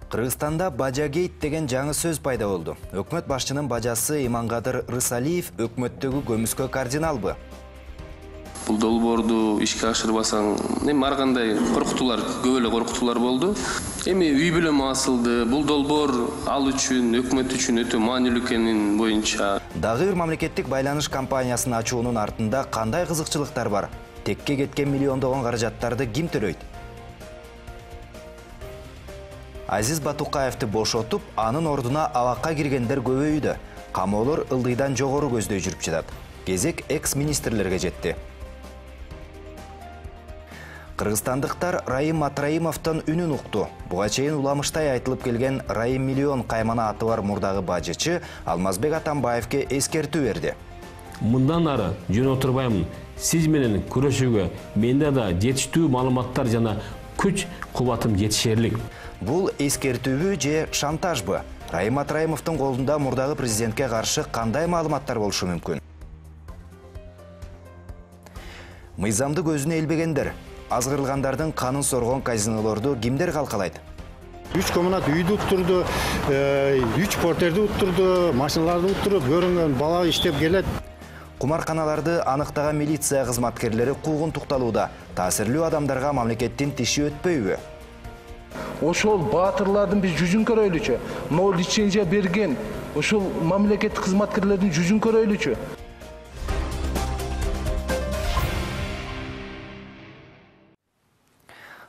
Кыргызстанда бажагейт деген жаңы сөз пайда болду. Өкмөт башчынын бажасы Имангадыр Рысалиев өкмөттөгү көмүскө кардиналбы? Бул долбоорду ишке ашырбасаң, ар кандай коркутуулар, көп эле коркутуулар болду. Эми үй бүлөм асылды. Бул долбоор ал үчүн, өкмөт үчүн өтө маанилүү экенин боюнча. Дагы бир мамлекеттик байланыш компаниясын ачуунун артында кандай кызыкчылыктар бар? Текке кеткен миллиондогон каражаттарды ким төлөйт? Азиз Батукаевди бошотуп, анын ордуна абакка киргендер көбөйдү. Камоолор ылдыйдан жогору көздөй жүрүп жатат. Кезек экс-министрлерге жетти. Кыргызстандыктар Раим Матраимовдон үнүн укту. Буга чейин уламыштай айтылып келген Раим миллион каймана аты бар мурдагы бажычы Алмазбек Атамбаевге эскертүү берди. Мындан ары жөн отурбаймын. Сиз менен күрөшүүгө менде да жетиштүү маалыматтар жана күч кубатым жетишерлик. Бул эскертүүбү же шантажбы? Раим Матраимовдун колунда мурдагы президентке каршы кандай маалыматтар болушу мүмкүн? Мыйзамды көзүнө илбегендер, азгырылгандардын канын соргон казинолорду кимдер калкалайт? 3 коммунат үйдү уттурду, 3 портерди уттурду, машиналарды уттуруп, көрүнгөн бала иштеп келет. Кумарканаларды аныктаган милиция кызматкерлери куугунтукталууда. Таасирлүү адамдарга мамлекеттин тиши өтпөйбү? Ошол баатырлардын биз жүзүн көрөйлүчү. Могу лицензия берген ошол мамлекеттик кызматкерлердин жүзүн көрөйлүчү.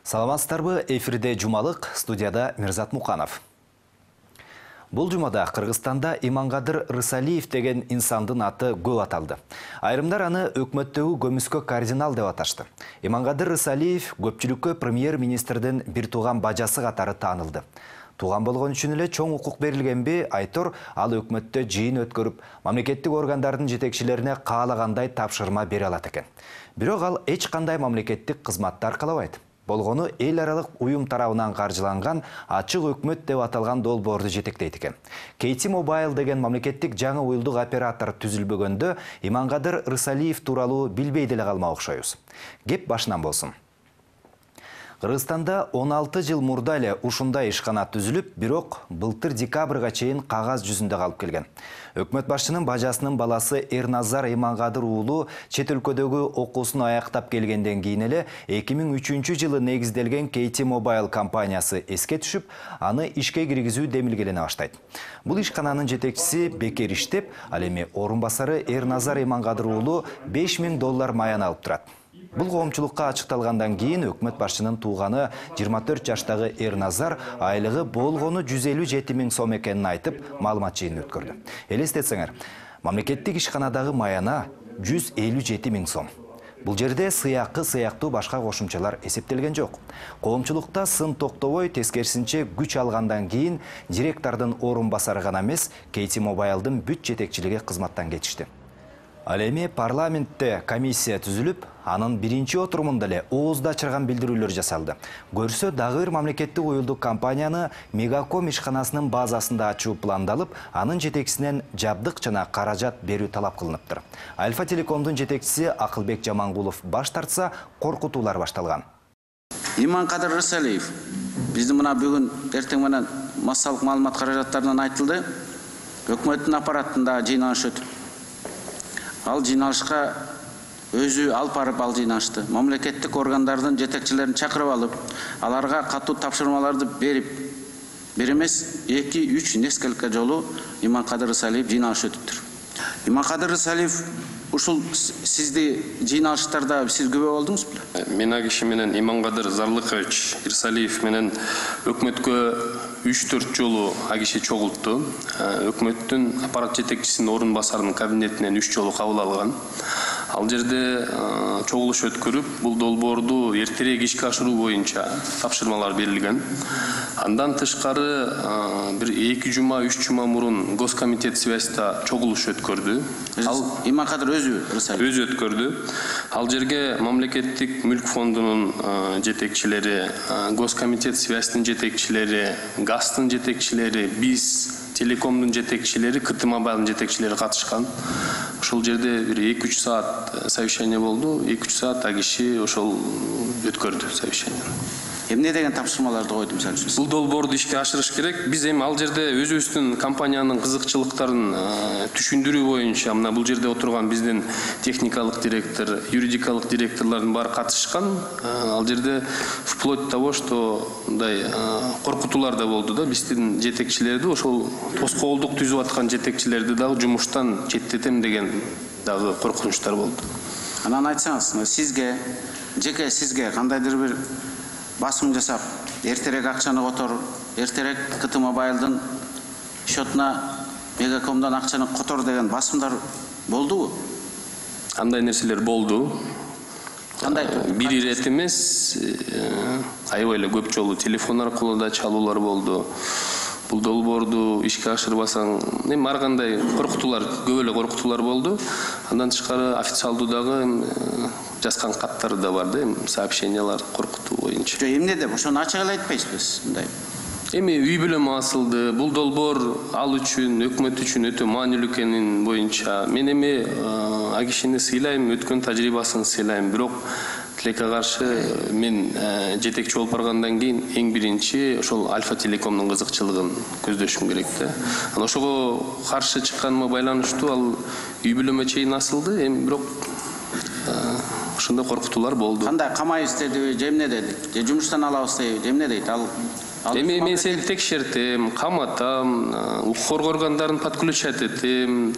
Саламатсыздарбы? Эфирде Жумалык, студияда Мирзат Муканов. Бул жумада Кыргызстанда Имангадыр Рысалиев деген инсандын аты көп аталды. Айрымдар аны өкмөттөгү көмүскө кардинал деп аташты. Имангадыр Рысалиев көпчүлүккө премьер-министрдин бир тууган бажасы катары таанылды. Тууган болгон үчүн эле чоң укук берилгенби, айтор ал өкмөттө жыйын өткөрүп, мамлекеттик органдардын жетекчилерине каалагандай тапшырма бере алат экен. Бирок ал эч кандай мамлекеттик кызматты аркалабайт. Болгону эл аралык уюм тарабынан каржыланган ачык өкмөт деп аталган долбоорду жетектейт экен. KT Mobile деген мамлекеттик жаңы уюлдук оператор түзүлбөгөндө Имангадыр Рысалиев тууралуу билбей деле калмак окшойбуз. Кеп башынан болсун. Кыргызстанда 16 жыл мурда эле ушундай ишкана түзүлүп, бирок былтыр декабрга чейин кагаз жүзүндө калып келген. Өкмөт башчынын бажасынын баласы Эрназар Имангадыр уулу чет өлкөдөгү окуусун аяктап келгенден кийин эле 2003 жылы негизделген KT Mobile компаниясы эске түшүп, аны ишке киргизүү демилгелене баштайт. Бул ишкананын жетекчиси бекер иштеп, ал эми орун басары Эрназар Имангадыр уулу $5000 маян алып турат. Бул коомчулукка ачыкталгандан кийин өкмөт башчынын тууганы 24 жаштагы Эрназар айлыгы болгону 157 000 сом экенин айтып, маалымат жыйынын өткөрдү. Элестетсеңер, мамлекеттик ишканадагы маяна 157 000 сом. Бул жерде сыйакы сыяктуу башка кошумчалар эсептелген жок. Коомчулукта сын токтобой, тескерисинче күч алгандан кийин директордун орун басары гана эмес, KT Mobile'дын бүт жетекчилиги кызматтан кетишти. Ал эми парламентте комиссия түзүлүп, анын биринчи отурумунда эле оозду ачырган билдирүүлөр жасалды. Көрсө дагы бир мамлекеттик уюлдук компанияны Мегаком ишканасынын базасында ачуу пландалып, анын жетекчисинен жабдык жана каражат берүү талап кылыныптыр. Альфа Телекомдун жетекчиси Акылбек Жамангулов баш тартса, коркутуулар башталган. Имангадыр Рысалиев биздин мына бүгүн эртең менен массалык маалымат каражаттарынан айтылды. Өкмөттүн аппаратында жыйналыш өтүп, ал жыйналышка өзү алып барып ал жыйналышты. Мамлекеттик органдардын жетекчилерин чакырып алып, аларга катуу тапшырмаларды берип, бир эмес 2-3 несколько жолу Имангадыр Рысалиев жыйналыш өтүптүр. Имангадыр Рысалиев ушул сизди жыйналыштарда сиз күбө болдуңузбу? Мен а киши менен Имангадыр Зарлыкович Рысалиев менен өкмөткө 3-4 жолу а киши чогултту. Өкмөттүн аппарат жетекчисинин орун басарынын кабинетинен 3 жолу кабыл алган. Ал жерде чогулуш өткөрүп, бул долбоорду эртерээк ишке ашыруу боюнча тапшырмалар берилген. Андан тышкары бир 2 жума, 3 жума мурун Госкомитет связьда чогулуш өткөрдү. Ал Имангадыр өзү өткөрдү. Ал жерге мамлекеттик мүлк фондунун жетекчилери, Госкомитет связьтын жетекчилери, ГАЗдын жетекчилери, биз Телекомдун жетекчилери, KT Mobile'дын жетекчилери катышкан. Ошол жерде бир 2-3 саат совещание болду. 2-3 саат а киши ошол өткөрдү совещание. Эмне деген тапшырмаларды койду мисалы үчүн? Бул долбоорду ишке ашырыш керек. Биз эми ал жерде өзүбүздүн компаниянын кызыкчылыктарын түшүндүрүү боюнча мына бул жерде отурган биздин техникалык директор, юридикалык директорлордун баары катышкан. Ал жерде вплоть до того, что мындай коркутуулар да болду да. Биздин жетекчилерди, ошол тоскоолдук түзүп аткан жетекчилерди дагы жумуштан четтетем деген дагы коркунучтар болду. Анан айтсаңыз, жеке сизге кандайдыр бир басым жасап, эртерээк акчаны котор, эртерээк КТ Мобайлдын счетуна Мегакомдон акчаны котор деген басымдар болдубу? Андай нерселер болду. Кандай? Бир ирет эмес, аябай эле көп жолу телефон аркылуу да чалуулар болду. Бул долбоорду ишке ашырбасаң, эми ар кандай коркутуулар, көп эле коркутуулар болду. Андан тышкары официалдуу дагы жазган каттар да бар да, сообщениялар коркутуу боюнча. Эмне деп ошону ачык эле айтпайсызбы мындай? Эми үй бүлөм асылды. Бул долбоор ал үчүн, өкмөт үчүн өтө маанилүү экенин боюнча мен эми а кишини сыйлайм, өткөн тажрыйбасын сыйлайм. Бирок тилекке каршы мен жетекчи болуп баргандан кийин эң биринчи ошол Альфа Телекомдун кызыкчылыгын көздөшүм керек да. Анан ошого каршы чыкканыма байланыштуу ал үй бүлөмө чейин асылды. Эми бирок ошондой коркутуулар болду. Кандай камайбыз дедиби, же эмне деди? Же жумуштан алабыз дейби, же эмне дейт? Эми мен сени текшертем, каматам, укук коргоо органдарын подключать этем,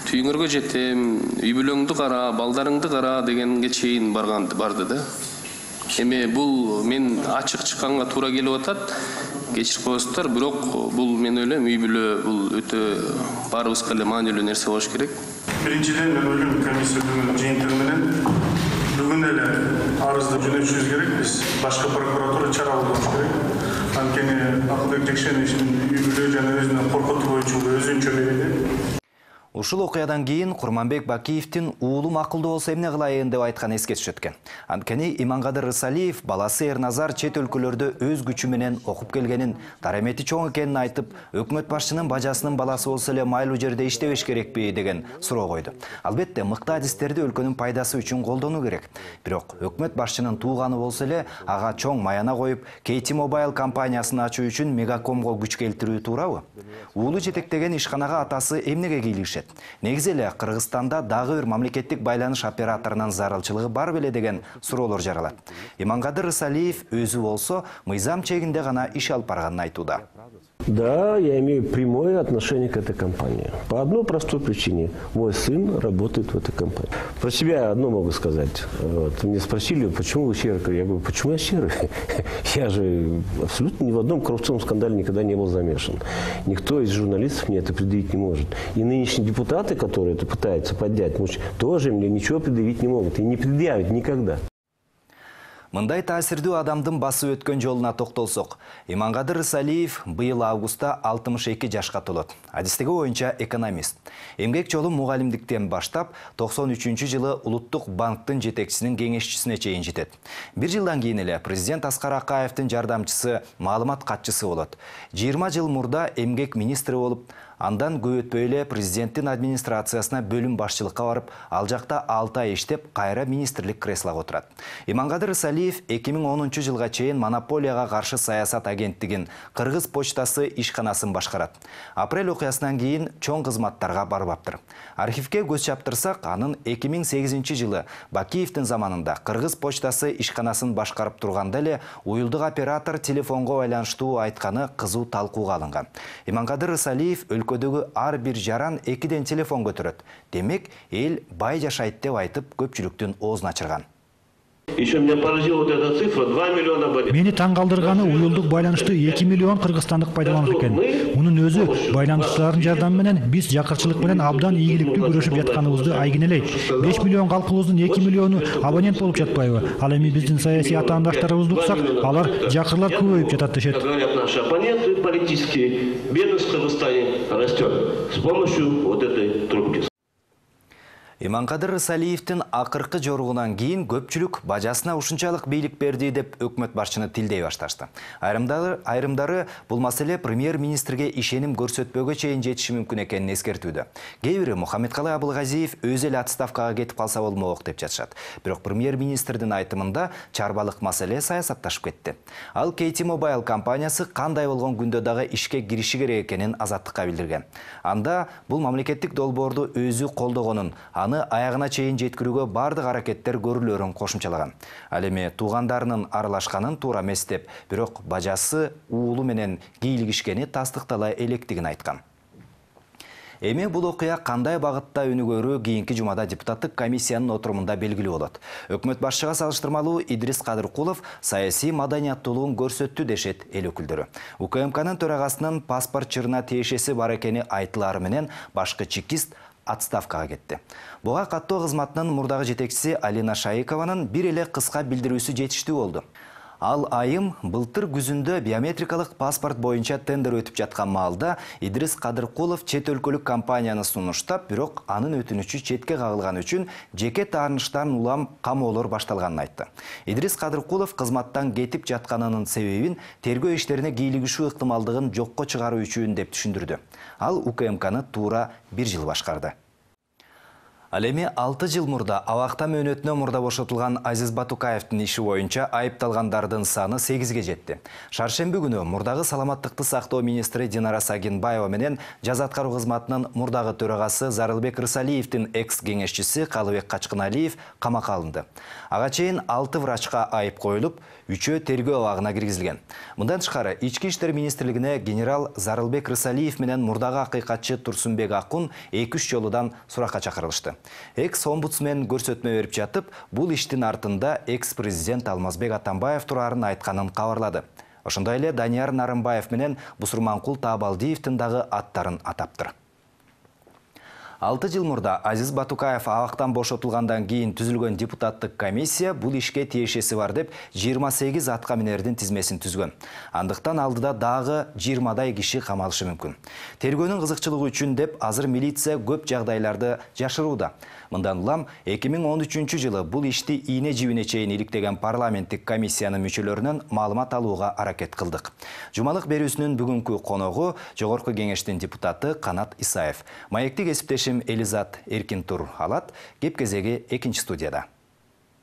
түйүңөргө жетем, үй бүлөңдү кара, балдарыңды кара дегенге чейин барды да. Эми бул мен ачык чыкканга туура келип атат. Кечирип коесуздар, бирок бул мен ойлойм үй бүлө бул өтө баарыбызга эле маанилүү нерсе болуш керек. Биринчиден мен ойлойм комиссиянын жыйынтыгы менен бүгүн эле арызды жөнөтүшүбүз керек. Биз башкы прокуратура чара колдонуш керек. Анткени Акылбек Жекшеновичтин үй бүлө жана өзүнүн коркутуу боюнча өзүнчө берди. Ушул окуядан кийин Курманбек Бакиевдин уулум акылдуу болсо эмне кылайын деп айткан эске түшөт экен. Анткени Иманкадыр Рысалиев баласы Эрназар чет өлкөлөрдө өз күчү менен окуп келгенин, дарамети чоң экенин айтып, өкмөт башчынын бажасынын баласы болсо эле майлуу жерде иштебеш керекпи деген суроо койду. Албетте, мыкты адистерди өлкөнүн пайдасы үчүн колдонуу керек. Бирок өкмөт башчынын тууганы болсо эле ага чоң маяна коюп, KT Mobile компаниясын ачуу үчүн Мегакомго күч келтирүү туурабы? Уулу жетектеген ишканага атасы эмнеге кийлигишет? Негизи эле Кыргызстанда дагы бир мамлекеттик байланыш операторунун зарылчылыгы бар беле деген суроолор жаралат. Иманкадыр Рысалиев өзү болсо мыйзам чегинде гана иш алып барганын айтууда. Да, я имею прямое отношение к этой компании. По одной простой причине. Мой сын работает в этой компании. Про себя одно могу сказать. Вот, меня спросили, почему вы серый? Я говорю, почему я серый? Я же абсолютно ни в одном коррупционном скандале никогда не был замешан. Никто из журналистов мне это предъявить не может. И нынешние депутаты, которые это пытаются поднять, тоже мне ничего предъявить не могут. И не предъявят никогда. Мындай таасирдүү адамдын басып өткөн жолуна токтолсок, Иманкадыр Рысалиев быйыл августта 62 жашка толот. Адистиги боюнча экономист. Эмгек жолу мугалимдиктен баштап 93-жылы Улуттук банктын жетекчисинин кеңешчисине чейин жетет. Бир жылдан кийин эле президент Аскар Акаевдин жардамчысы, маалымат катчысы болот. 20 жыл мурда эмгек министри болуп, андан көп өтпөй эле президенттин администрациясына бөлүм башчылыкка барып, ал жакта 6 ай иштеп, кайра министрлик креслого отурат. Иманкадыр Рысалиев 2010 жылга чейин монополияга каршы саясат агенттигин, Кыргыз почтасы ишканасын башкарат. Апрель окуясынан кийин чоң кызматтарга барбаптыр. Архивке көз чаптырсак, анын 2008 жылы Бакиевдин заманында Кыргыз почтасы ишканасын башкарып турганда эле уюлдук оператор телефонго байланыштуу айтканы кызуу талкууга алынган. Иманкадыр Рысалиев өлкөдөгү ар бир жаран 2ден телефон көтөрөт. Демек, эл бай жашайт деп айтып көпчүлүктүн оозун ачырган. Еще меня поразила вот эта цифра, 2 миллиона абонентов. Мени таң калдырганы уюлдук байланышты 2 миллион кыргызстандык пайдаланат экен. Мунун өзү байланыштардын жардамы менен биз жакырчылык менен абдан ийгиликтүү күрөшүп жатканыбызды айгинелейт. 5 миллион калкыбыздын 2 миллиону абонент болуп жатпайбы? Ал эми биздин саясий атаандаштарыбызды уксак, алар жакырлар көбөйүп жатат дешет. Говорят, наши оппоненты политические, бедность в Кыргызстане растет с помощью вот этой трубки. Иманкадыр Рысалиевдин акыркы жоругунан кийин көпчүлүк бажасына ушунчалык бийлик берди деп өкмөт башчыны тилдей башташты. Айрымдары бул маселе премьер-министрге ишеним көрсөтпөгө чейин жетиши мүмкүн экенин эскертүүдө. Кээ бири Мухаммедкалый Абылгазиев өзү эле отставкага кетип калса болмок деп жатышат. Бирок премьер-министрдин айтымында чарбалык маселе саясатташып кетти. Ал KT Mobile компаниясы кандай болгон күндө дагы ишке кириши керек экенин Азаттыкка билдирген. Анда бул мамлекеттик долбоорду өзү колдогонун, аны аягына чейин жеткирүүгө бардык аракеттер көрүлөрүн кошумчалаган. Ал эми туугандарынын аралашканын туура эмес деп, бирок бажасы уулу менен кийлигишкени тастыктала электигин айткан. Эми бул окуя кандай багытта өнүгөрү кийинки жумада депутаттык комиссиянын отурумунда белгилүү болот. Өкмөт башчыга салыштырмалуу Идрис Кадыркулов саясий маданияттуулугун көрсөттү дешет эл өкүлдөрү. УКМКнын төрагасынын паспорт чырына тиешеси бар экени айтылары менен башкы чекист отставкага кетти. Буга каттоо кызматынын мурдагы жетекчиси Алина Шайыкованын бир эле кыска билдирүүсү жетиштүү болду. Ал айым былтыр күзүндө биометрикалык паспорт боюнча тендер өтүп жаткан маалда Идрис Кадыркулов чет өлкөлүк компанияны сунуштап, бирок анын өтүнүчү четке кагылган үчүн жеке тааныштан улам камоолор башталганын айтты. Идрис Кадыркулов кызматтан кетип жатканынын себебин тергөө иштерине кийлигишүү ыктымалдыгын жокко чыгаруу үчүн деп түшүндүрдү. Ал УКМКны туура 1 жыл башкарды. Ал эми 6 жыл мурда абакта мөөнөтүнө мурда бошотулган Азиз Батукаевдин иши боюнча айыпталгандардын саны 8ге жетти. Шаршемби күнү мурдагы саламаттыкты сактоо министри Динара Сагинбаева менен жаза аткаруу кызматынын мурдагы төрагасы Зарылбек Рысалиевдин экс-кеңешчиси Калыбек Качкыналиев камакка алынды. Ага чейин 6 врачка айып коюлуп, 3-өө тергөө абагына киргизилген. Мындан тышкары Ички иштер министрлигине генерал Зарылбек Рысалиев менен мурдагы акыйкатчы Турсунбек Акун 2-3 жолудан суракка чакырылышты. Экс-омбудсмен көрсөтмө берип жатып, бул иштин артында экс-президент Алмазбек Атамбаев турарын айтканын кабарлады. Ошондой эле Данияр Нарымбаев менен Бусурманкул Таабалдиевдин дагы аттарын атаптыр. 6 жыл мурда Азиз Батукаев абактан бошотулгандан кийин түзүлгөн депутаттык комиссия бул ишке тиешеси бар деп 28 атка минердин тизмесин түзгөн. Андыктан алдыда дагы 20дай киши камалышы мүмкүн. Тергөөнүн кызыкчылыгы үчүн деп азыр милиция көп жагдайларды жашырууда. Мындан улам 2013 жылы бул ишти ийне жибине чейин иликтеген парламенттик комиссиянын мүчөлөрүнөн маалымат алууга аракет кылдык. Жумалык берүүсүнүн бүгүнкү коногу Жогорку кеңештин депутаты Канат Исаев. Маектик эсиптешим Элизат Эркинтур алат. Кеп кезеги 2-чи студияда.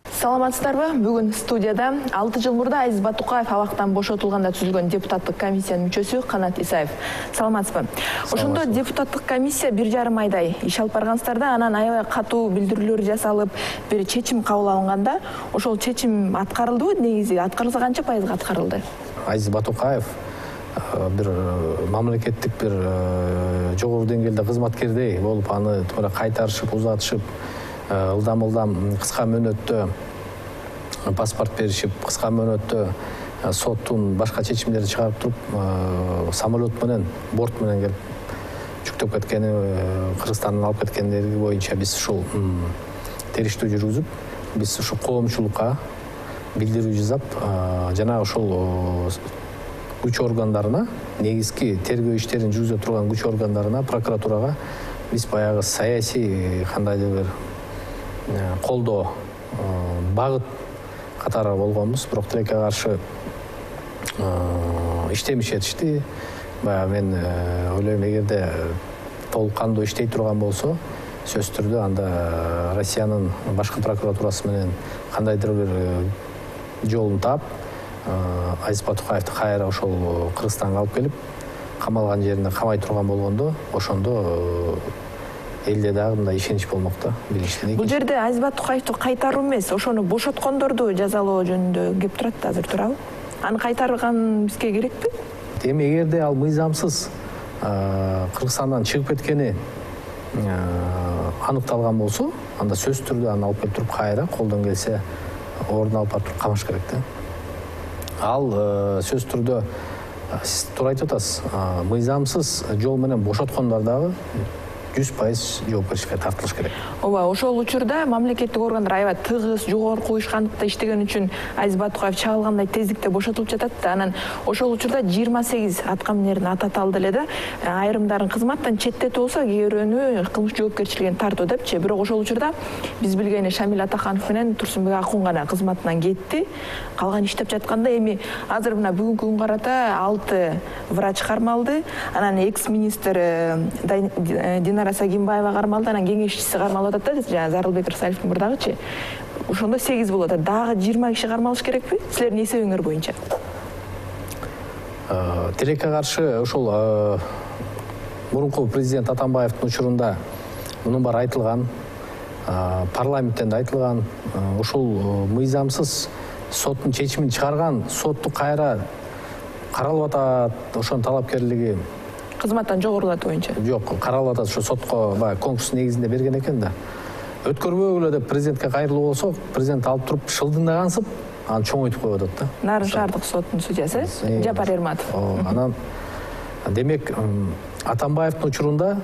Саламатсыздарбы? Бүгүн студияда 6 жыл мурда Азиз Батукаев абактан бошотулганда түзүлгөн депутаттык комиссиянын мүчөсү Канат Исаев. Саламатсызбы? Ошондо депутаттык комиссия 1,5 айдай иш алып баргансыздар да, анан аябай катуу билдирүүлөр жасалып, бир чечим кабыл алынганда, ошол чечим аткарылдыбы? Негизи аткарылса канча пайызга аткарылды? Азиз Батукаев бир мамлекеттик бир жогору деңгээлде кызматкердей болуп, аны туура кайтарышып, узатышып, ылдам кыска мөөнөттө паспорт беришип, кыска мөөнөттө соттун башка чечимдерин чыгарып туруп, самолет менен, борт менен келип жүктөп кеткени, Кыргызстандан алып кеткендери боюнча биз ушул териштүү жүргүзүп, биз ушу коомчулукка билдирүү жасап, жана ушул күч органдарына, негизги тергөө иштерин жүргүзө турган күч органдарына, прокуратурага биз баягы саясий кандайдыр бир колдоо, багыт катары болгонбуз. Бирок тилекке каршы иштемешти. Баягы мен ойлойм, эгерде толук кандуу иштей турган болсо, сөзсүз түрдө анда Россиянын башкы прокуратурасы менен кандайдыр бир жолун таап, Азиз Батукаевди кайра ошол Кыргызстанга алып келип, камалган жеринде камай турган болгондо, ошондо элде дагы мындай ишенич болмок да, биринчиден. Бул жерде Азиз Батукаевди кайтаруу эмес, ошону бошоткондорду жазалоо жөнүндө кеп турат да азыр, туурабы? Аны кайтарган бизге керекпи? Эми эгерде ал мыйзамсыз Кыргызстандан чыгып кеткени аныкталган болсо, анда сөзсүз түрдө аны алып келип туруп кайра колдон келсе ордуна алып барып камаш керек да. Ал сөзсүз түрдө сиз туура айтып атасыз, мыйзамсыз жол менен бошоткондор дагы 100% жоопкерчиликке тартылыш керек. Ооба, ошол учурда мамлекеттик органдар аябай тыгыз, жогорку уюшкандыкта иштеген үчүн Азиз Батукаев чагылгандай тездикте бошотулуп жатат да. Анан ошол учурда 28 аткаминердин аты аталды эле да. Айрымдарын кызматтан четтетип болсо, кээ бирөөнү кылмыш жоопкерчилигине тартуу депчи. Бирок ошол учурда биз билгени Шамил Атаханов менен Турсунбек Акун гана кызматынан кетти. Калган иштеп жатканда эми азыр мына бүгүнкү күнгө карата 6 врач кармалды. Анан экс-министр Динара Сагимбаева кармалды, анан кеңешчиси кармалып атат да, жана Зарылбек Рысалевдин мурдагычы. Ошондо 8 болот. Дагы 20 киши кармалыш керекпи? Силердин эсебиңер боюнча. Тилекке каршы ошол мурунку президент Атамбаевдин учурунда мунун баары айтылган, парламенттен да айтылган, ушул мыйзамсыз соттун чечимин чыгарган, сотту кайра каралып атат, ошонун талапкерлиги Кызматтан жогорулатуу боюнча. Жок, каралып атат, ошо сотко конкурс негизинде берген экен да. Өткөрбөгүлө деп президентке кайрылуу болсо, президент алып туруп шылдыңдагансып, аны чоңойтуп коюп атат да. Нарын шаардык соттун судьясы Жапар Эрматов. Анан демек Атамбаевдин учурунда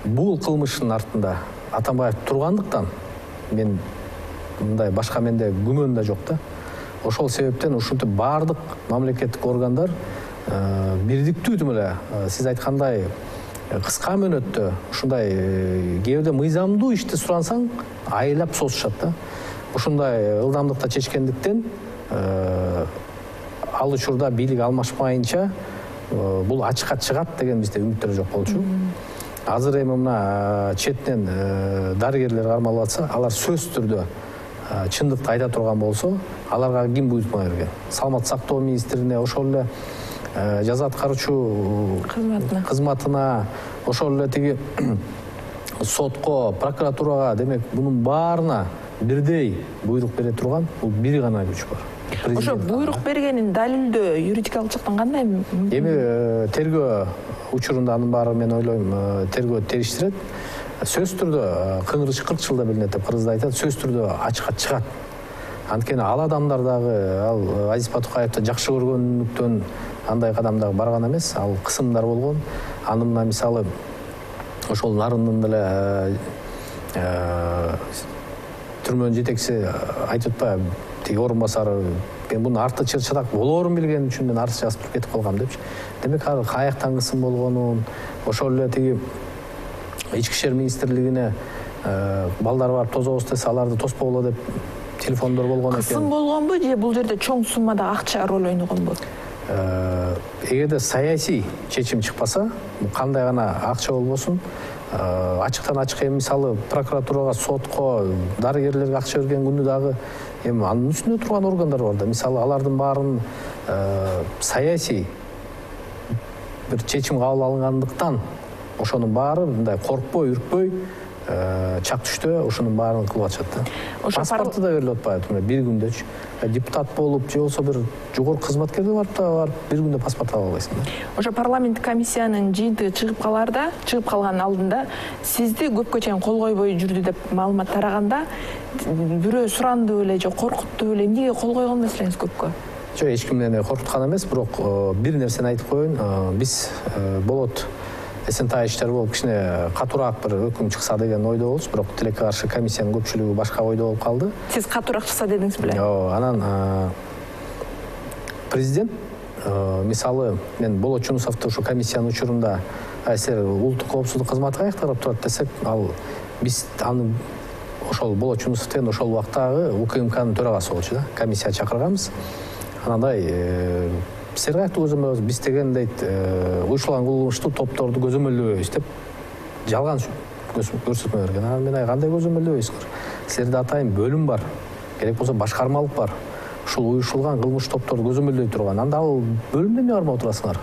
бул кылмыштын артында Атамбаев тургандыктан мен мындай башка менде күмөн да жок да. Ошол себептен ушинтип баардык мамлекеттик органдар бирдиктүү эле сиз айткандай кыска мөөнөттө ушундай кээде мыйзамдуу ишти сурансаң айлап созушат да. Ушундай ылдамдыкта чечкендиктен ал учурда бийлик алмашмайынча бул ачыкка чыгат деген бизде үмүттөр жок болчу. Азыр эми мына четинен дарыгерлер кармалып атса, алар сөзсүз түрдө чындыкты айта турган болсо, аларга ким буйрутма берген? Саламаттык сактоо министрине, ошол эле жаза аткаруучу кызматына, ошол эле тиги сотко, прокуратурага, демек мунун баарына бирдей буйрук бере турган бул бир гана күч бар. Ошо буйрук бергенин далилдөө юридикалык жактан кандай? Эми тергөө учурунда анын баары мен ойлойм тергөө териштирет. Сөзсүз түрдө кыңырыш 40 жылда билинет деп кыргызда айтат, сөзсүз түрдө ачыкка чыгат. Анткени ал адамдар дагы ал Азиз Батукаевди жакшы көргөнлүктөн андай кадамдагы барган эмес, ал кысымдар болгон. Анын мисалы ошол Нарындын деле түрмөнүн жетекчиси айтып атпайбы, тиги орун басары, мен муну арты чырчырак болоорун билген үчүн мен арты жазып туруп кетип калгам депчи. Демек ал каяктан кысым болгонун, ошол эле тиги ички ишер министрлигине балдар барып тособуз десе, аларды тоспогула деп телефондор болгон экен. Кысым болгонбу же бул жерде чоң суммада акча роль ойногонбу? Эгерде саясий чечим чыкпаса, кандай гана акча болбосун, ачыктан ачык эми мисалы прокуратурага, сотко, дарыгерлерге акча берген күнү дагы эми анын үстүндө турган органдар бар да. Мисалы алардын баарын саясий бир чечим кабыл алынгандыктан ошонун баары мындай коркпой, үркпөй, чак түштө ошонун баарын кылып атышат да. Паспорту да берилип атпайбы, бир күндөчү. Депутат болуп, же болсо бир жогорку кызматкерде барып бир күндө паспорт ала албайсың да. Ошо парламенттик комиссиянын жыйынтыгы чыгып калган алдында сизди көпкө чейин кол койбой жүрдү деп маалымат тараганда бирөө суранды беле же коркутту беле, эмнеге кол койгон эмес элеңиз көпкө? Жок, эч кимден коркуткан эмес, бирок бир нерсени айтып коеюн. Биз болот эсентай иштер болуп кичине катуураак бир өкүм чыкса деген ойдо болчу, бирок тилекке каршы комиссиянын көпчүлүгү башка ойдо болуп калды. Сиз катуураак чыкса дедиңиз беле? Жок, анан президент мисалы мен Болот Жунусовду ошо комиссиянын учурунда силер улуттук коопсуздук кызматы каякта карап турат десек, ал биз аны ошол Болот Жунусов деген ошол убактагы УКМКнын төрагасы болчу да, комиссия чакырганбыз. Анандай силер каякта көзөмөлдөйсүз, биз деген дейт уюштурулган кылмыштуу топторду көзөмөлдөбөйбүз деп жалган көрсөтмө берген. Анан мен кандай көзөмөлдөбөйсүңөр? Силерде атайын бөлүм бар, керек болсо башкармалык бар. Ушул уюштурулган кылмыш топторду көзөмөлдөй турган. Анда ал бөлүмдө эмне кармап отурасыңар?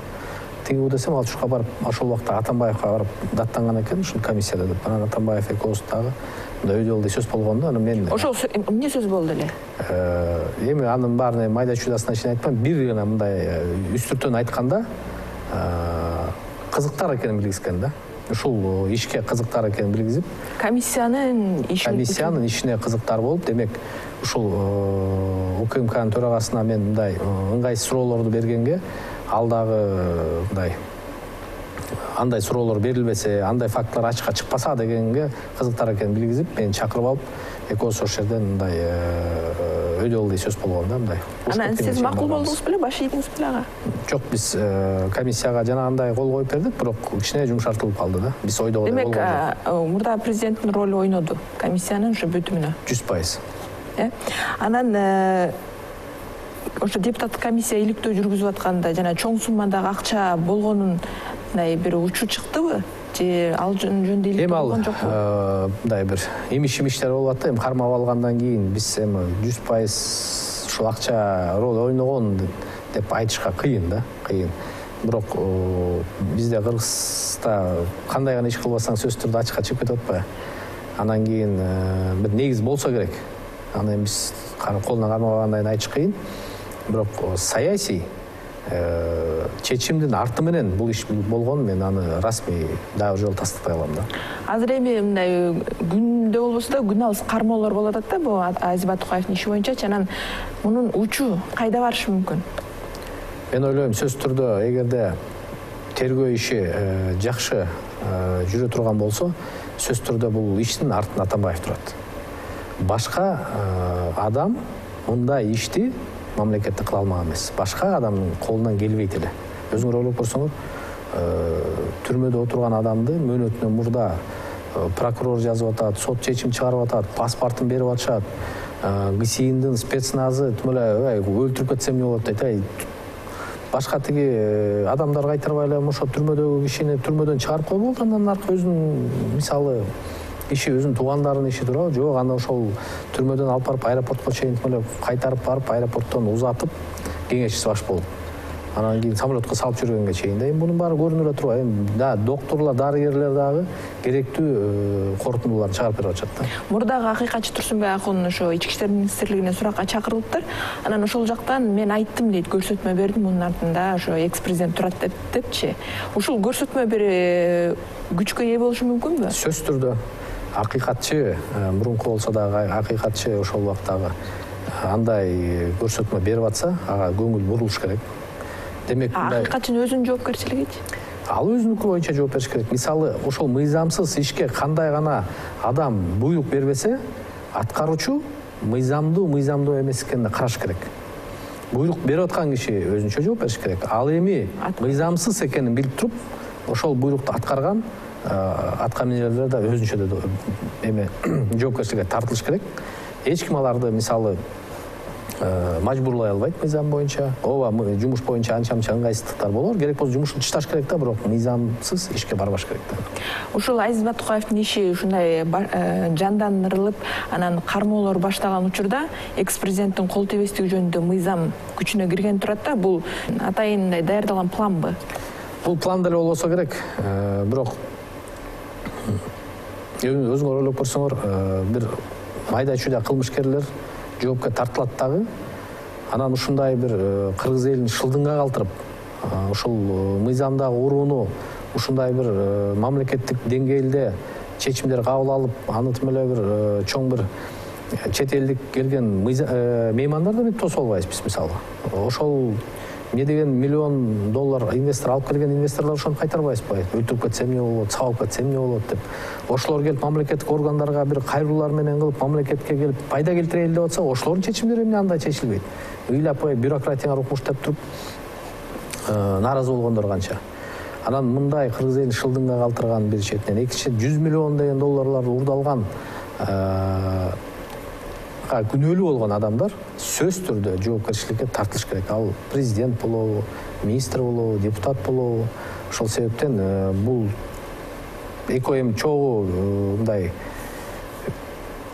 Тиги десем, ал ушуга барып, ошол убакта Атамбаевга барып даттанган экен ушул комиссияда деп. Анан Атамбаев экөөбүз дагы мындай өйдөлдү сөз болгон да. Анан мен ошол эмне сөз болду эле? Эми анын баарын майда чуйдасына чейин айтпайм, бир гана мындай үстүртөн айтканда кызыктар экенин билгизген да. Ушул ишке кызыктар экенин билгизип, комиссиянын ишине кызыктар болуп, демек ушул УКМКнын төрагасына мен мындай ыңгайсыз суроолорду бергенге ал дагы мындай андай суроолор берилбесе, андай фактылар ачыкка чыкпаса дегенге кызыктар экенин билгизип, мени чакырып алып, экөөбүз ошол жерден мындай өйдө алгы сөз болгон да, мындай. Анан сиз макул болдуңуз беле, баш ийдиңиз беле ага? Жок, биз комиссияга жанагындай кол коюп бердик, бирок кичине жумшартылып калды да. Биз ойдогодай болбоду. Демек, мурда президенттин ролу ойноду комиссиянын ушу бүтүмүнө? 100%. Анан ошо депутаттык комиссия иликтөө жүргүзүп атканда жана чоң суммадагы акча болгонун бир учу чыктыбы? Же ал жөнүндө иликтөө болгон жокпу? Мындай бир имиш-имиштер болуп атты. Эми кармап алгандан кийин биз эми 100% ушул акча роль ойногон деп айтышка кыйын да, кыйын. Бирок бизде Кыргызста кандай гана иш кылбасаң сөзсүз түрдө ачыкка чыгып кетип атпайбы? Анан кийин бир негиз болсо керек. Анан биз колуна кармабагандай айтыш кыйын. Бирок саясий чечимдин арты менен бул иш болгон, мен аны расмий дагы жолу тастыктай алам да. Азыр эми мындай күндө болбосо да күн алыс кармоолор болуп атат да бул Азизбек Тукаевдин иши боюнча. Анан мунун учу кайда барышы мүмкүн? Мен ойлойм, сөзсүз түрдө эгерде тергөө иши жакшы жүрө турган болсо, сөзсүз түрдө бул иштин артында Атамбаев турат. Башка адам мындай ишти мамлекетте кыла алмаган эмес. Башка адамдын колунан келбейт эле. Өзүңөр ойлоп көрсөңөр, түрмөдө отурган адамды мөөнөтүнөн мурда прокурор жазып атат, сот чечим чыгарып атат, паспортун берип атышат, ГСИНдин спецназы тим эле өлтүрүп кетсем эмне болот дейт. Башка тиги адамдар кайтарбай эле ошо түрмөдөгү кишини түрмөдөн чыгарып койбой болду, андан аркы өзүнүн мисалы иши, өзүнүн туугандарынын иши туурабы? Жок, анда ошол түрмөдөн алып барып аэропортко чейин кайтарып барып, аэропорттон узатып кеңешчиси баш болуп. Анан кийин самолетко салып жүргөнгө чейин да. Эми мунун баары көрүнүп эле турат. Эми докторлор, дарыгерлер дагы керектүү корутундуларды чыгарып берип атышат да. Мурдагы акыйкатчы Турсунбек Акун ошо Ички иштер министрлигине суракка чакырылыптыр. Анан ошол жактан мен айттым дейт, көрсөтмө бердим, мунун артында ошо экс-президент турат депчи. Ушул көрсөтмө бир күчкө ээ болушу мүмкүнбү? Сөзсүз түрдө акыйкатчы, мурунку болсо дагы акыйкатчы ошол убактагы андай көрсөтмө берип атса, ага көңүл бурулуш керек. Демек, акыйкатчынын өзүнүн жоопкерчилигичи? Ал өзүнүкү боюнча жооп бериш керек. Мисалы, ошол мыйзамсыз ишке кандай гана адам буйрук бербесе, аткаруучу мыйзамдуу эмес экенин караш керек. Буйрук берип аткан киши өзүнчө жооп бериш керек. Ал эми мыйзамсыз экенин билип туруп, ошол буйрукту аткарган аткаминерлер да өзүнчө эме жоопкерчиликке тартылыш керек. Эч ким аларды мисалы мажбурлай албайт мыйзам боюнча. Ооба, жумуш боюнча анча-мынча ыңгайсыздыктар болор. Керек болсо жумушту ташташ керек да, бирок мыйзамсыз ишке барбаш керек да. Ушул Азизбек Тукаевдин иши ушундай жандандырылып, анан кармоолор башталган учурда экс-президенттин кол тебестиги жөнүндө мыйзам күчүнө кирген турат да. Бул атайын даярдалган планбы? Бул план деле болбосо керек. Бирок өзүңөр ойлоп көрсөңөр, бир майда-чүйда кылмышкерлер жоопка тартылат дагы. Анан ушундай бир кыргыз элин шылдыңга калтырып, ушул мыйзамдагы урууну ушундай бир мамлекеттик деңгээлде чечимдер кабыл алып, аны тим эле бир чоң бир чет элдик келген меймандарды тосуп албайбыз биз мисалы. Ошол эмне деген $1 миллион инвестор алып келген инвесторлор ошону кайтарбайбызбы? Өлтүрүп кетсе эмне болот, сабап кетсе эмне болот деп. Ошолор келип мамлекеттик органдарга бир кайрылуулар менен кылып, мамлекетке келип пайда келтирели деп атса, ошолордун чечимдери эмне андай чечилбейт? Ыйлап бюрократияга укмуштап туруп нааразы болгондор канча. Анан мындай кыргыз элин шылдыңга калтырган бир четинен, экинчи $100 миллион деген долларларды урдалган күнөөлүү болгон адамдар сөзсүз түрдө жоопкерчиликке тартылыш керек. Ал президент болобу, министр болобу, депутат болобу. Ошол себептен бул экөө эми чогуу мындай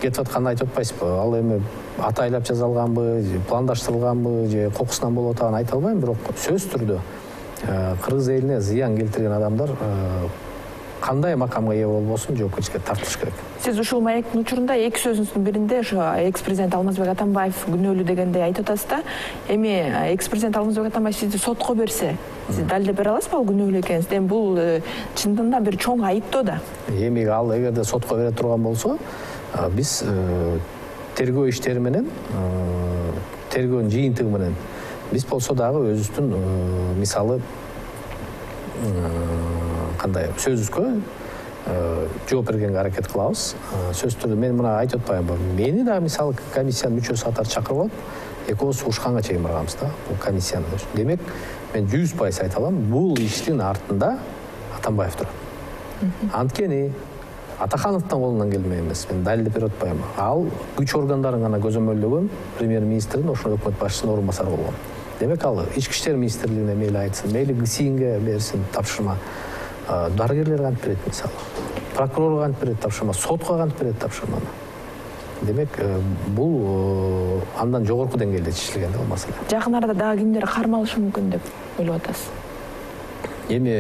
кетип атканын айтып атпайсызбы? Ал эми атайлап жасалганбы, пландаштырылганбы же кокусунан болуп атганын айта албайм, бирок сөзсүз түрдө кыргыз элине зыян келтирген адамдар кандай макамга ээ болбосун жоопкерчиликке тартылыш керек. Сиз ушул маектин учурунда эки сөзүңүздүн биринде ошо экс-президент Алмазбек Атамбаев күнөөлүү дегенде айтып атасыз да. Эми экс-президент Алмазбек Атамбаев сизди сотко берсе, сиз далилдеп бере аласызбы ал күнөөлүү экениңизди? Эми бул чындыгында бир чоң айыптоо да. Эми ал эгерде сотко бере турган болсо, биз тергөө иштери менен, тергөөнүн жыйынтыгы менен биз болсо дагы өзүбүздүн мисалы кандай сөзүбүзгө жооп бергенге аракет кылабыз. Сөзсүз түрдө мен мына айтып атпаймынбы? Мени да мисалы комиссиянын мүчөсү катары чакырып алып, экөөбүз ушканга чейин барганбыз да бул комиссияны. Демек, мен 100% айта алам, бул иштин артында Атамбаев турат. Анткени Атахановдун колунан келмек эмес. Мен далилдеп берип атпайм. Ал күч органдарын гана көзөмөлдөгөн премьер-министрдин ошол өкмөт башчысынын орун басары болгон. Демек, ал ички иштер министрлигине мейли айтсын, мейли ГСИНге берсин тапшырма. Дарыгерлер кантип берет мисалы. Прокурорго кантип берет тапшырма, сотко кантип берет тапшырманы. Демек, бул андан жогорку деңгээлде чечилген бул маселе. Жакын арада дагы кимдер кармалышы мүмкүн деп ойлоп атасыз? Эми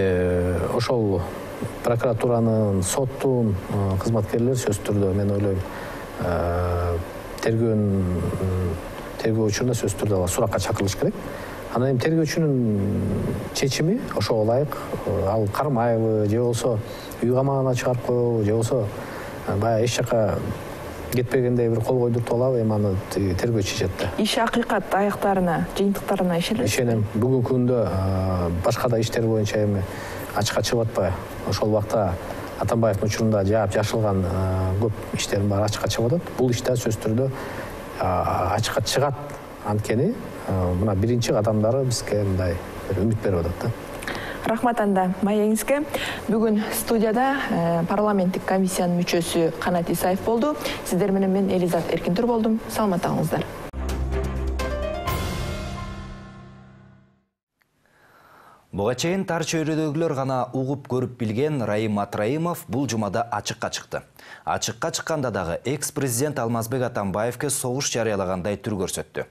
ошол прокуратуранын, соттун кызматкерлери сөзсүз түрдө мен ойлойм тергөөчүнө сөзсүз түрдө суракка чакырылыш керек. Анан эми тергөөчүнүн чечими ошого ылайык ал кармайбы, же болбосо үй камагына чыгарып коебу, же болбосо баягы эч жака кетпегендей бир кол койдуртуп алабы, эми аны тергөө чечет да. Иш акыйкат аяктарына, жыйынтыктарына ишенесизби? Ишенем. Бүгүнкү күндө башка да иштер боюнча эми ачыкка чыгып атпайбы? Ошол убакта Атамбаевдин учурунда жаап жашылган көп иштердин баары ачыкка чыгып атат. Бул иштер сөзсүз түрдө ачыкка чыгат. Анткени мына биринчи кадамдары бизге мындай үмүт берип атат да. Рахмат анда маегиңизге. Бүгүн студияда парламенттик комиссиянын мүчөсү Канат Исаев болду. Сиздер менен мен Элизат Эркинтур болдум. Саламат болуңуздар. Буга чейин тар чөйрөдөгүлөр гана угуп көрүп билген Раим Атраимов бул жумада ачыкка чыкты. Ачыкка чыкканда дагы экс-президент Алмазбек Атамбаевке согуш жарыялагандай түр көрсөттү.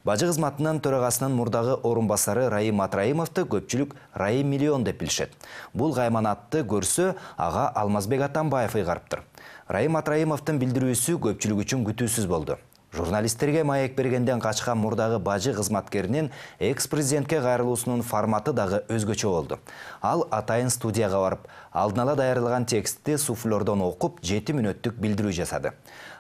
Бажы кызматынын төрагасынын мурдагы орун басары Раим Атраимовду көпчүлүк Раим миллион деп билишет. Бул кайманатты көрсө, ага Алмазбек Атамбаев ыйгарыптыр. Раим Атраимовдун билдирүүсү көпчүлүк үчүн күтүүсүз болду. Журналисттерге маек бергенден качкан мурдагы бажы кызматкеринин экс-президентке кайрылуусунун форматы дагы өзгөчө болду. Ал атайын студияга барып, алдын ала даярдалган текстти суфлердон окуп, 7 мүнөттүк билдирүү жасады.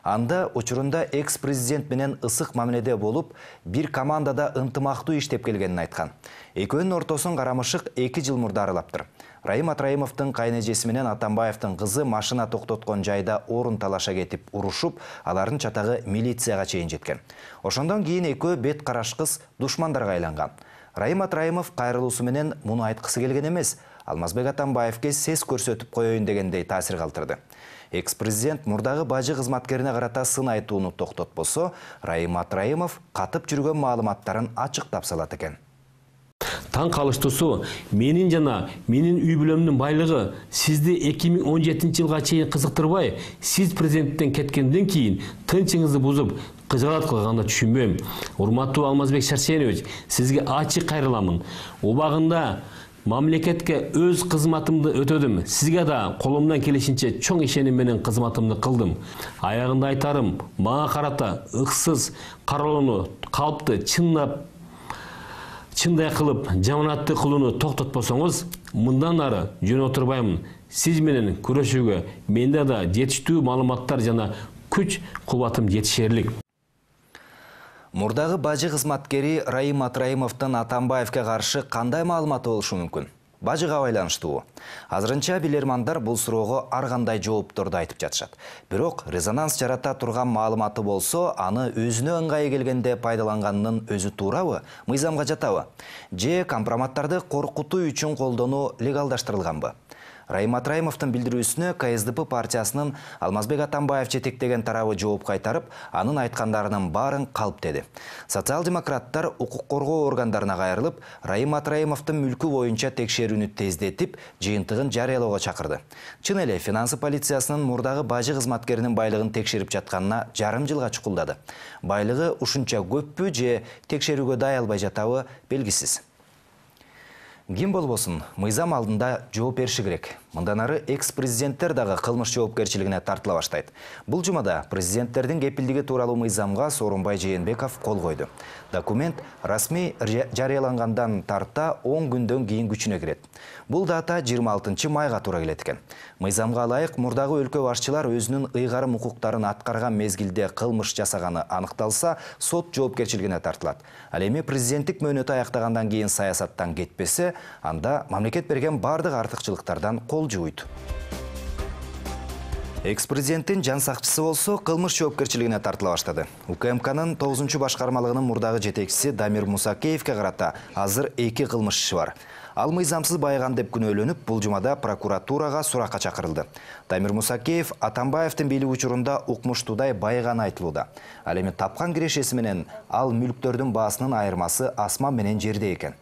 Анда учурунда экс-президент менен ысык мамиледе болуп, бир командада ынтымактуу иштеп келгенин айткан. Экөөнүн ортосун карамышык 2 жыл мурда аралаптыр. Раим Атраимовдун кайнэжеси менен Атамбаевдин кызы машина токтоткон жайда орун талаша кетип урушуп, алардын чатагы милицияга чейин жеткен. Ошондон кийин экөө бет карашкыс душмандарга айланган. Раим Атраимов кайрылуусу менен муну айткысы келген эмес, Алмазбек Атамбаевке сес көрсөтүп коеюн дегендей таасир калтырды. Экс-президент мурдагы бажы кызматкерине карата сын айтууну токтотпосо, Раим Атраимов катып жүргөн маалыматтарын ачыктап салат экен. Таң калыштуусу, менин жана менин үй бүлөмдүн байлыгы сизди 2017-жылга чейин кызыктырбай, сиз президенттен кеткенден кийин тынчыңызды бузуп, кыжаат кылганды түшүнбөйм. Урматтуу Алмазбек Шарсенович, сизге ачык кайрыламын. Убагында мамлекетке өз кызматымды өтөдүм. Сизге да колумдан келишинче чоң ишеним менен кызматымды кылдым. Аягында айтарым, мага карата ыксыз кароолууну, калпты чындай кылып, жаманатты кылууну токтотпосоңуз, мындан ары жөн отурбаймын. Сиз менен күрөшүүгө менде да жетиштүү маалыматтар жана күч кубатым жетишерлик. Мурдагы бажы кызматкери Раим Атраимовдун Атамбаевке каршы кандай маалыматы болушу мүмкүн? Бажыга байланыштуу. Азырынча билермандар бул суроого ар кандай жоопторду айтып жатышат. Бирок резонанс жарата турган маалыматы болсо, аны өзүнө ыңгайы келгенде пайдаланганынын өзү туурабы, мыйзамга жатабы? Же компроматтарды коркутуу үчүн колдонуу легалдаштырылганбы? Раим Атраимовдун билдирүүсүнө КСДП партиясынын Алмазбек Атамбаев жетектеген тарабы жооп кайтарып, анын айткандарынын баарын калп деди. Социал-демократтар укук коргоо органдарына кайрылып, Раим Атраимовдун мүлкү боюнча текшерүүнү тездетип, жыйынтыгын жарыялоого чакырды. Чын эле финансы полициясынын мурдагы бажы кызматкеринин байлыгын текшерип жатканына жарым жылга чукулдады. Байлыгы ушунча көппү же текшерүүгө дай албай жатабы белгисиз. Ким болбосун, мыйзам алдында жооп бериши керек. Мындан ары экс-президенттер дагы кылмыш жоопкерчилигине тартыла баштайт. Бул жумада президенттердин кепилдиги тууралуу мыйзамга Сооронбай Жээнбеков кол койду. Документ расмий жарыялангандан тарта 10 күндөн кийин күчүнө кирет. Бул дата 26 майга туура келет экен. Мыйзамга ылайык мурдагы өлкө башчылар өзүнүн ыйгарым укуктарын аткарган мезгилде кылмыш жасаганы аныкталса, сот жоопкерчилигине тартылат. Ал эми президенттик мөөнөтү аяктагандан кийин саясаттан кетпесе, анда мамлекет берген бардык артыкчылыктардан кол жууйт. Экс-президенттин жан сакчысы болсо кылмыш жоопкерчилигине тартыла баштады. УКМКнын 9-башкармалыгынын мурдагы жетекчиси Дамир Мусакеевке карата азыр 2 кылмыш иши бар. Ал мыйзамсыз байыган деп күнөөлөнүп, бул жумада прокуратурага суракка чакырылды. Дамир Мусакеев Атамбаевдин бийлик учурунда укмуштуудай байыганы айтылууда. Ал эми тапкан кирешеси менен ал мүлктөрдүн баасынын айырмасы асман менен жерде экен.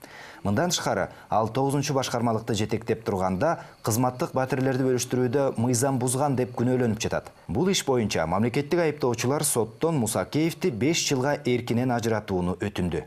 Мындан тышкары, ал 9-башкармалыкты жетектеп турганда кызматтык батирлерди бөлүштүрүүдө мыйзам бузган деп күнөөлөнүп жатат. Бул иш боюнча мамлекеттик айыптоочулар соттон Мусакеевди 5 жылга эркинен ажыратууну өтүндү.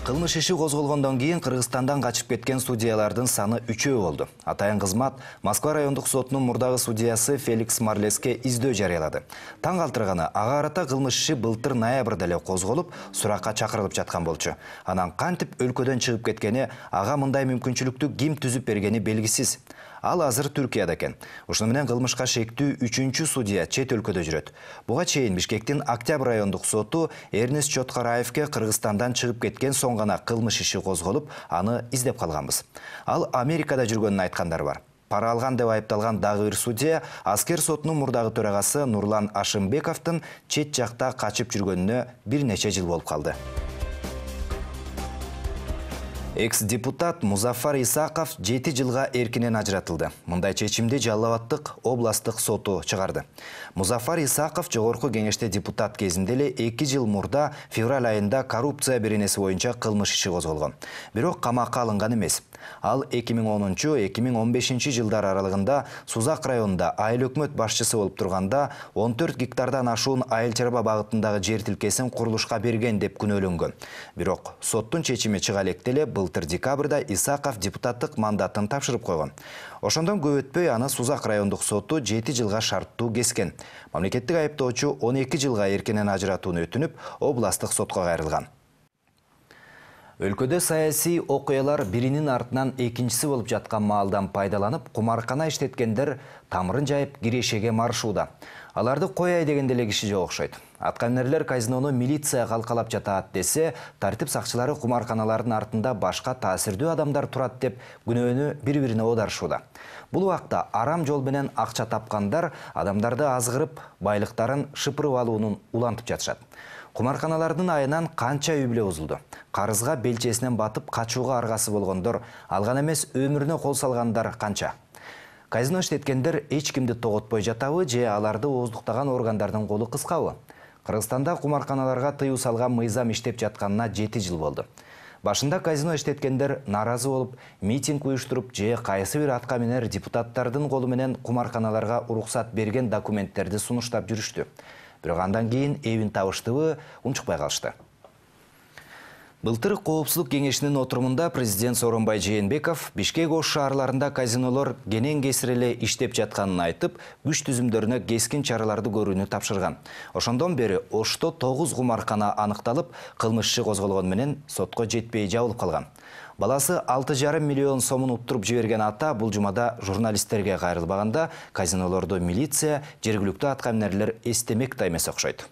Кылмыш иши козголгондон кийин Кыргызстандан качып кеткен судьялардын саны 3 болду. Атайын кызмат Москва райондук сотунун мурдагы судьясы Феликс Марлеске издөө жарыялады. Таң калтырганы, ага карата кылмыш иши былтыр ноябрда эле козголуп, суракка чакырылып жаткан болчу. Анан кантип өлкөдөн чыгып кеткени, ага мындай мүмкүнчүлүктү ким түзүп бергени белгисиз. Ал азыр Түркияда экен. Ошону менен кылмышка шектүү 3-чү судья чет өлкөдө жүрөт. Буга чейин Бишкектин Октябрь райондук соту Эрнест Чоткараевке Кыргызстандан чыгып кеткен соң гана кылмыш иши козголуп, аны издеп калганбыз. Ал Америкада жүргөнүн айткандар бар. Пара алган деп айыпталган дагы бир судья аскер сотунун мурдагы төрагасы Нурлан Ашымбековдун чет жакта качып жүргөнүнө бир нече жыл болуп калды. Экс-депутат Музафар Исаков 7 жылга эркинен ажыратылды. Мындай чечимди Жалал Абаддык областык соту чыгарды. Музафар Исаков жогорку кеңеште депутат кезинде эле 2 жыл мурда февраль айында коррупция беренеси боюнча кылмыш иши козголгон. Бирок камакка алынган эмес. Ал 2010-2015 жылдар аралыгында Сузак районунда айыл өкмөт башчысы болуп турганда 14 гектардан ашуун айыл чарба багытындагы жер тилкесин курулушка берген деп күнөөлөнгөн. Бирок соттун чечими чыга электе эле былтыр декабрда Исаков депутаттык мандатын тапшырып койгон. Ошондон көп өтпөй аны Сузак райондук соту 7 жылга шарттуу кескен. Мамлекеттик айыптоочу 12 жылга эркинен ажыратууну өтүнүп, областык сотко кайрылган. Өлкөдө саясий окуялар биринин артынан экинчиси болуп жаткан маалдан пайдаланып, кумаркана иштеткендер тамырын жайып кирешеге маршууда. Аларды кояй дегенде эле киши жок окшойт. Аткаминерлер казинону милиция калкалап жатат десе, тартип сакчылары кумарканалардын артында башка таасирдүү адамдар турат деп күнөөнү бири-бирине оодарышууда. Бул убакта арам жол менен акча тапкандар адамдарды азгырып, байлыктарын шыпырып алуунун улантып жатышат. Кумарканалардын айынан канча үй бүлө бузулду. Карызга белчесинен батып качууга аргасы болгондор, алган эмес өмүрүнө кол салгандар канча. Казино иштеткендер эч кимди тоготпой жатабы же аларды ооздуктаган органдардын колу кыскабы? Кыргызстанда кумарканаларга тыюу салган мыйзам иштеп жатканына 7 жыл болду. Башында казино иштеткендер наразы болуп, митинг уюштуруп же кайсы бир аткаминер депутаттардын колу менен кумарканаларга уруксат берген документтерди сунуштап жүрүштү. Бирок андан кийин эбин табыштыбы, унчукпай калышты. Былтыр Коопсуздук кеңешинин отурумунда президент Сооронбай Жээнбеков Бишкек Ош шаарларында казинолор кенен кесир эле иштеп жатканын айтып, күч түзүмдөрүнө кескин чараларды көрүүнү тапшырган. Ошондон бери Ошто 9 кумаркана аныкталып, кылмыш иши козголгон менен сотко жетпей жабылып калган. Баласы 6,5 миллион сомун уттуруп жиберген ата бул жумада журналисттерге кайрылбаганда казинолорду милиция, жергиликтүү аткаминерлер эстемек да эмес окшойт.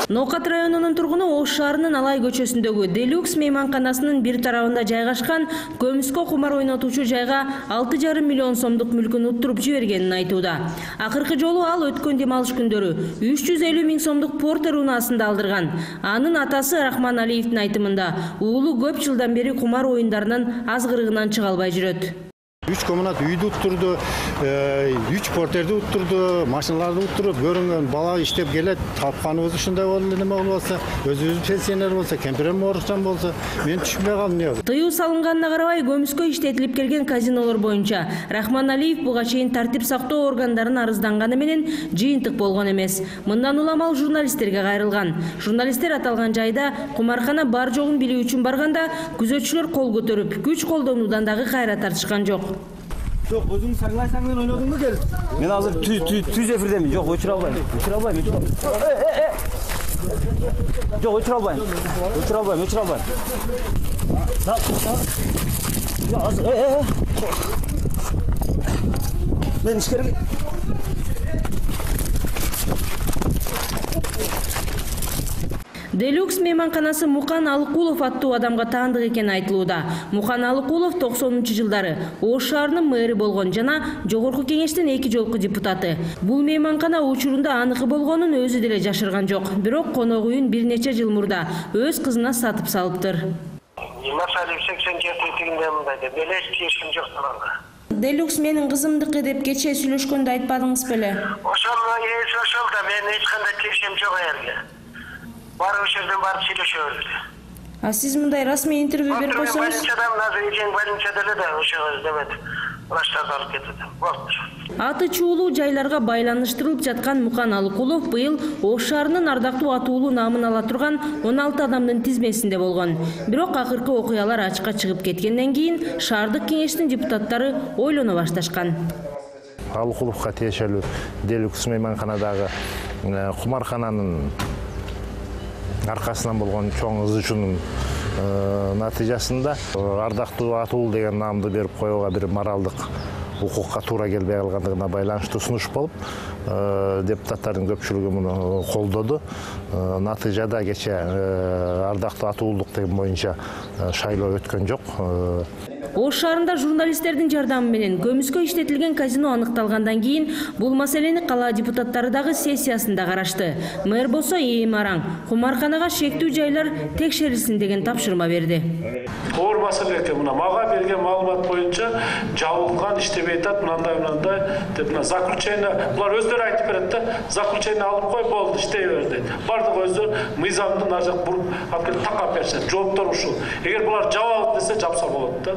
Ноокат районунун тургуну Ош шаарынын Алай көчөсүндөгү Делюкс мейманканасынын бир тарабында жайгашкан көмүскө кумар ойнотуучу жайга 6,5 миллион сомдук мүлкүн уттуруп жибергенин айтууда. Акыркы жолу ал өткөн дем алыш күндөрү 350 000 сомдук Портер унаасында алдырган. Анын атасы Рахман Алиевдин айтымында уулу көп жылдан бери кумар оюндарынын азгырыгынан чыга албай жүрөт. 3 комнат үйдү уттурду, 3 портерди уттурду, машиналарды уттуруп, көрүнгөн бала иштеп келет, тапканыбыз ушундай болду, неме болбосо, өзүбүз пенсионер болсо, кемпирем оорукчан болсо, мен түшүнбөй калдым эмне. Тыюу салынганына карабай, көмүскө иштетилип келген казинолор боюнча Рахман Алиев буга чейин тартип сактоо органдарына арызданганы менен жыйынтык болгон эмес. Мындан улам ал журналисттерге кайрылган. Журналисттер аталган жайда кумаркана бар жогун билүү үчүн барганда, күзөтчүлөр кол көтөрүп, күч колдонуудан дагы кайра тартышкан жок. Жоқ, өзің саңлайсаң мен ойнадың ба кел? Мен азыр түз эфирдемін. Жоқ, өчүрө албайм. Жоқ, өчүрө албайм. Мен ишкерге. Делюкс мейманканасы Мукан Алыкулов аттуу адамга таандык экени айтылууда. Мукан Алыкулов 90-жылдары Ош шаарынын мэри болгон жана Жогорку кеңештин 2 жолку депутаты. Бул мейманкана учурунда аныкы болгонун өзү деле жашырган жок. Бирок конок үйүн бир нече жыл мурда өз кызына сатып салыптыр. Масалиев 87-тигинде мындай деп эле чечим жок саналды. Делюкс менин кызымдыкы деп кече сүйлөшкөндө айтпадыңыз беле? Ошону ошол да мен эч кандай келишим жок эле. Бар ошерден барып сүйлөшөбүз. А сиз мындай расмий интервью берип койсоңуз? Больницадан азыр больницада эле да ошо деметип врачтарды алып кетти. Болду. Аты чуулуу жайларга байланыштырылып жаткан Мукан Алыкулов быйыл Ош шаарынын ардактуу атуулуу наамын ала турган 16 адамдын тизмесинде болгон. Бирок акыркы окуялар ачыкка чыгып кеткенден кийин шаардык кеңештин депутаттары ойлоно башташкан. Алыкуловго тиешелүү Делюкс мейманканадагы кумаркананын аркасынан болгон чоң ызычуунун натыйжасында ардактуу атуулуу деген наамды берип коюуга бир моралдык укукка туура келбей калгандыгына байланыштуу сунуш болуп, депутаттардын көпчүлүгү муну колдоду. Натыйжада кече ардактуу атуулук деген боюнча шайлоо өткөн жок. Ош шаарында журналисттердин жардамы менен көмүскө иштетилген казино аныкталгандан кийин бул маселени кала депутаттары дагы сессиясында карашты. Мэр болсо эми араң кумарканага шектүү жайлар текшерилсин деген тапшырма берди. Оор маселе экен. Мына мага берген маалымат боюнча жабылган, иштебей атат, мындай деп мына заключение булар өздөрү айтып берет да. Заключение алып кой, болду, иштей бер дейт. Бардыгы өздөрү мыйзамдын ар жак буруп алып келип такап берсе, жооптор ушул. Эгер булар жабабыз десе жапса болот да.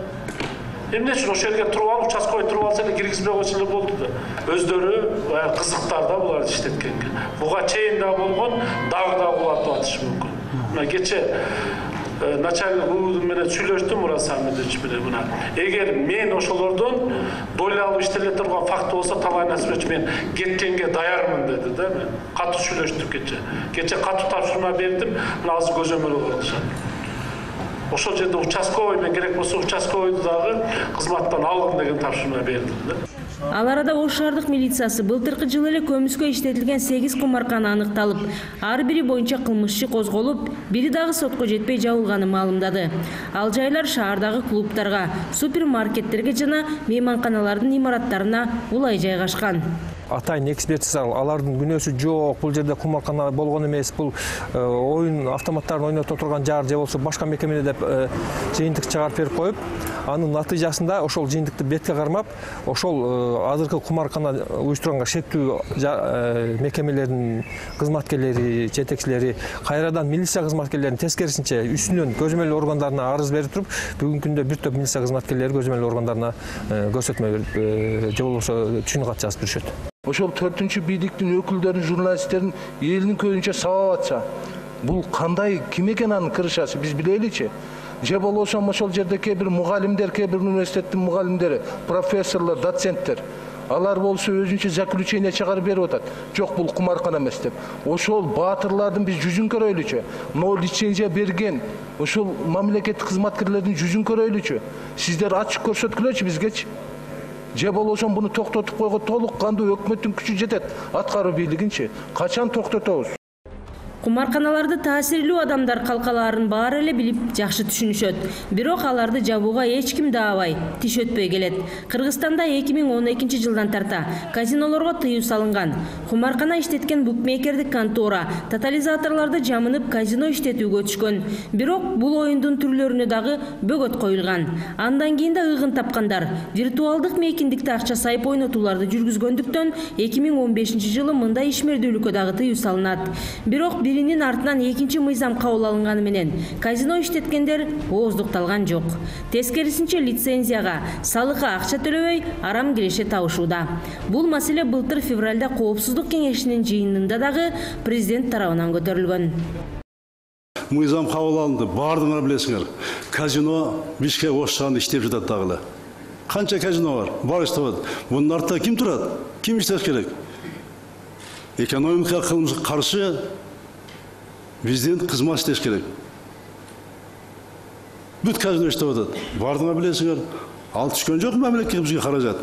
Эмне үчүн ошол жерге туруп алып, участковый туруп алса эле киргизбей койсо эле болду да. Өздөрү кызыктарда буларды иштеткенге. Буга чейин да болгон, дагы да кулатып атышы мүмкүн. Мына кече начальник менен сүйлөштүм Мурат Самедович менен. Мына эгер мен ошолордон доля алып иштеле турган факты болсо, Талай Насибович мен кеткенге даярмын деди да. Мен катуу сүйлөштүк кече. Кече катуу тапшырма бердим. Мына азыр көзөмөл кылышат. Ошол жерде участковый мен керек болсо участковыйды дагы кызматтан алгын деген тапшырма бердим да. Ал арада Ош шаардык милициясы былтыркы жылы эле көмүскө иштетилген 8 кумаркана аныкталып, ар бири боюнча кылмыш иши козголуп, бири дагы сотко жетпей жабылганын маалымдады. Ал жайлар шаардагы клубтарга, супермаркеттерге жана мейманканалардын имараттарына улай жайгашкан. Атайын экспертиза алардын күнөөсү жок, бул жерде кумаркана болгон эмес, бул оюн автоматтарын ойнотуп турган жар же болсо башка мекеме деп жыйынтык чыгарып берип коюп, анын натыйжасында ошол жыйынтыкты бетке кармап, ошол азыркы кумаркана уюштурганга шектүү мекемелердин кызматкерлери, жетекчилери кайрадан милиция кызматкерлеринин тескерисинче үстүнөн көзөмөл органдарына арыз берип туруп, бүгүнкү күндө бир топ милиция кызматкерлери көзөмөл органдарына көрсөтмө берип, же болбосо түшүн кат жазып беришет. Ошол 4-чү бийликтин өкүлдөрүн, журналисттерин элинин көзүнчө сабап атса, бул кандай, ким экен анын кырышасы, биз билеличи. Же болбосо ошол жерде кээ бир мугалимдер, кээ бир университеттин мугалимдери, профессорлор, доценттер, алар болсо өзүнчө заключение чыгарып берип атат. Жок, бул кумаркана эмес деп. Ошол баатырлардын биз жүзүн көрөйлүчү. Могу лицензия берген ошол мамлекеттик кызматкерлердин жүзүн көрөйлүчү. Сиздер ачык көрсөткүлөчү бизгечи. Же болбосо буну токтотуп койго толук кандуу өкмөттүн күчү жетет. Аткаруу бийлигинчи качан токтотобуз? Кумарканаларды таасирлүү адамдар калкалаарын баары эле билип жакшы түшүнүшөт. Бирок аларды жабууга эч ким даабай, тиш өтпөй келет. Кыргызстанда 2012 жылдан тарта казинолорго тыюу салынган. Кумаркана иштеткен букмекердик контора тотализаторлорду жамынып казино иштетүүгө өтүшкөн. Бирок бул оюндун түрлөрүнө дагы бөгөт коюлган. Андан кийин да ыгын тапкандар виртуалдык мейкиндикте акча сайып ойнотууларды жүргүзгөндүктөн 2015 жылы мындай ишмердүүлүккө дагы тыюу салынат. Бирок биринин артынан экинчи мыйзам кабыл алынганы менен казино иштеткендер ооздукталган жок. Тескерисинче лицензияга, салыкка акча төлөбөй арам киреше табышууда. Бул маселе былтыр февралда Коопсуздук кеңешинин жыйынында дагы президент тарабынан көтөрүлгөн. Мыйзам кабыл алынды, баардыгыңар билесиңер. Казино Бишкек Ош шаарында иштеп жатат дагы. Канча казино бар? Бар иштеп. Мунун артында ким турат? Ким иштеш керек? Экономика кылмышка каршы биздин кызмат иштеш керек. Бүт казино иштеп атат. Бардыңар билесиңер. Ал түшкөн жок мамлекетке бизге каражат.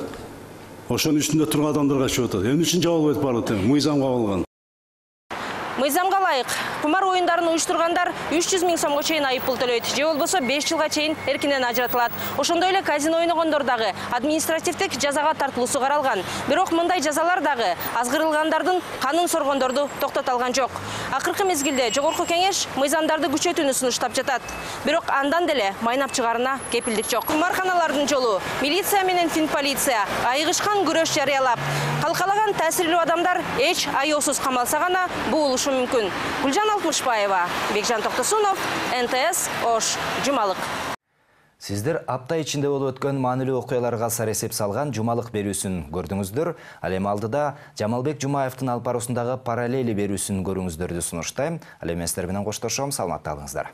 Ошонун үстүндө турган адамдарга чыгып атат. Эмне үчүн жабылбайт барлык? Мыйзам кабыл алган. Мыйзамга ылайык кумар оюндарын уюштургандар 300 000 сомго чейин айыппул төлөйт, же болбосо 5 жылга чейин эркинен ажыратылат. Ошондой эле казино ойногондор дагы административдик жазага тартылуусу каралган. Бирок мындай жазалар дагы азгырылгандардын канын соргондорду токтото алган жок. Акыркы мезгилде жогорку кеңеш мыйзамдарды күчөтүүнү сунуштап жатат. Бирок андан деле майнап чыгарына кепилдик жок. Кумарканалардын жолу милиция менен финполиция айыгышкан күрөш жарыялап, калкалаган таасирлүү адамдар эч аеосуз камалса гана буулушу мүмкүн. Гүлжан Алтмышбаева, Бекжан Токтосунов, НТС Ош, Жумалык. Сиздер апта ичинде болуп өткөн маанилүү окуяларга саресеп салган Жумалык берүүсүн көрдүңүздөр. Ал эми алдыда Жамалбек Жумаевдин алып баруусундагы параллели берүүсүн көрүүңүздөрдү сунуштайм. Ал эми сиздер менен коштошом, саламатта калыңыздар.